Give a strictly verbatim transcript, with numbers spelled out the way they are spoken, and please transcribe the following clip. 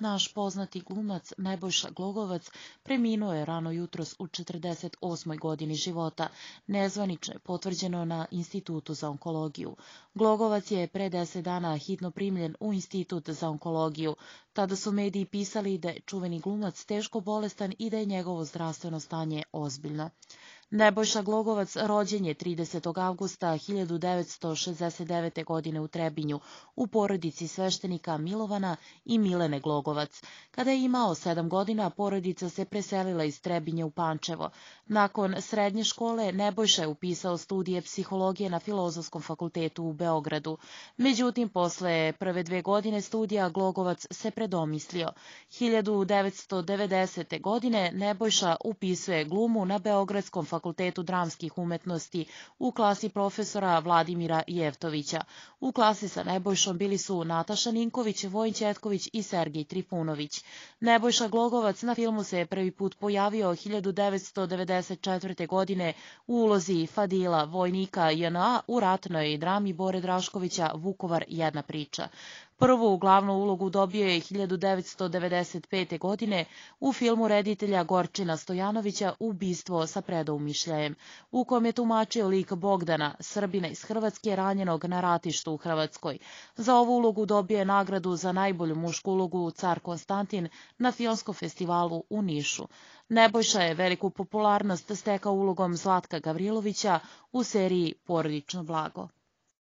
Naš poznati glumac Nebojša Glogovac preminuo je rano jutros u četrdeset osmoj godini života. Nezvanično je potvrđeno na Institutu za onkologiju. Glogovac je pre deset dana hitno primljen u Institut za onkologiju. Tada su mediji pisali da je čuveni glumac teško bolestan i da je njegovo zdravstveno stanje ozbiljno. Nebojša Glogovac rođen je tridesetog avgusta hiljadu devetsto šezdeset devete. godine u Trebinju, u porodici sveštenika Milovana i Milene Glogovac. Kada je imao sedam godina, porodica se preselila iz Trebinja u Pančevo. Nakon srednje škole, Nebojša je upisao studije psihologije na Filozofskom fakultetu u Beogradu. Međutim, posle prve dve godine studija Glogovac se predomislio. hiljadu devetsto devedesete. godine Nebojša upisuje glumu na Beogradskom fakultetu Fakultetu dramskih umetnosti u klasi profesora Vladimira Jevtovića. U klasi sa Nebojšom bili su Nataša Ninković, Vojin Ćetković i Sergej Trifunović. Nebojša Glogovac na filmu se prvi put pojavio hiljadu devetsto devedeset četvrte. godine u ulozi Fadila, vojnika J N A u ratnoj drami Bore Draškovića Vukovar jedna priča. Prvu glavnu ulogu dobio je hiljadu devetsto devedeset pete. godine u filmu reditelja Gorčina Stojanovića Ubistvo sa predoumišljajem, u kom je tumačio lik Bogdana, Srbina iz Hrvatske ranjenog na ratištu u Hrvatskoj. Za ovu ulogu dobio je nagradu za najbolju mušku ulogu Car Konstantin na filmskom festivalu u Nišu. Nebojša je veliku popularnost stekao ulogom Zlatka Gavrilovića u seriji Porodično blago.